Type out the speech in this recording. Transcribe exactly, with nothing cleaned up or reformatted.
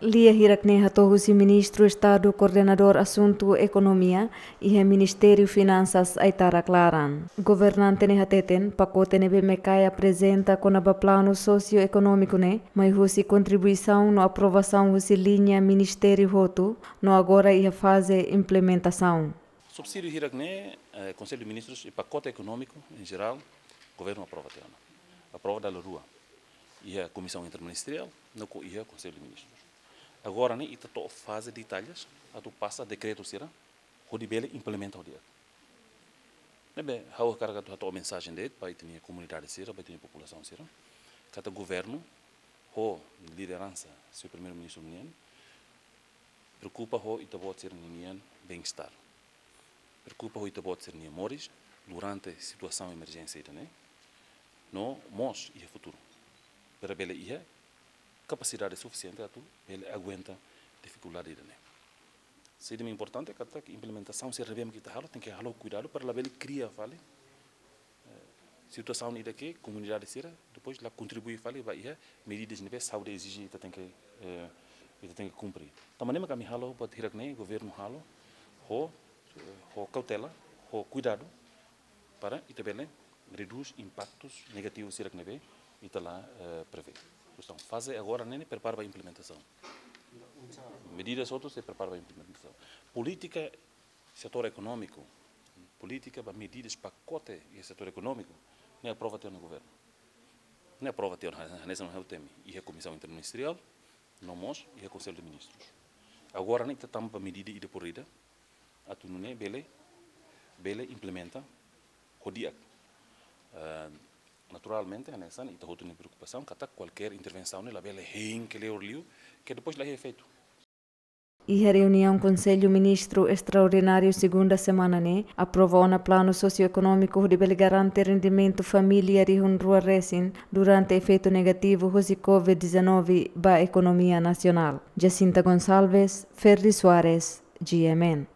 Lia hirak ne'e hato'o husi Ministru Estadu Koordenadór Asuntu Ekonomia iha Ministériu Finansas Aitarak Laran. Governante ne'e hateten, pakote ne'ebé MECAI aprezenta kona-ba planu sosioekonómiku ne'e mai husi kontribuisaun no aprovasaun husi liña ministériu hotu, no agora iha faze implementasaun. Subsídiu hirak ne'e, eh, Konsellu de Ministrus, i pakote ekonómiku en jerál, governu aprova tiha ona. Aprova dala rua. Iha Komisaun Interministeriál, no ko iha Konsellu de Ministrus. Agora ne'e ita to'o faze detalles, atu pasa dekretu sira, hodi bele implementa hodi. Ne'ebé, ha'u hakarak atu hato'o mensajen de'it ba ita-nia komunidade sira, ba ita-nia populasaun sira, katak governu, ho lideransa señór Primeiru-Ministru nian, preokupa ho ita-boot sira-nian bem-estar. Preokupa ho ita-boot sira-nia moris durante situasaun emerjénsia ida-ne'e, no mós iha futuru. Para bele iha kapasidade sufisiente atu bele aguenta difikuldade ida-ne'e. Saida mak importante katak implementasaun sira ne'ebé mak ita halo, tenke halo kuidadu para labele kria fali, eh, situasaun ida ke komunidade sira depois la kontribui fali ba iha medidas ne'ebé saúde ezije ita tenke, eh, ita tenke kumpre. Tanba ne'e mak ami halo, buat hirak ne'e governu halo, ho, eh, ho kautela, ho kuidadu, para ita bele redús impaktus negativus sira ne'ebé ita la, eh, prevee. Entaun, faze agora ne'e prepara ba implementasaun. Medidas hotu sei prepara ba implementasaun. Polítika setór ekonómiku, polítika ba medidas pakote iha setór ekonómiku, ne'e aprova tiha ona governu. Ne'e aprova tiha ona, hanesan ha'u temi, iha Komisaun Interministeriál, no mós iha Konsellu de Ministrus. Agora ne'e ita tama ba medida ida por ida, atu nune'e bele, bele implementa ho di'ak. Eh, naturalmente, hanesan ita hotu nia preokupasaun, katak kualkér intervensaun ne'e labele hein kleur liu, ke depois la iha efeitu. Iha reuniaun Konsellu Ministru Estraordináriu segunda semana ne'e, aprova ona planu sosioekonómiku hodi bele garante rendimentu família rihun rua resin durante efeitu negativu husi covid dezanove ba ekonomia nasionál. Jacinta Gonçalves, Ferdi Soares, G M N.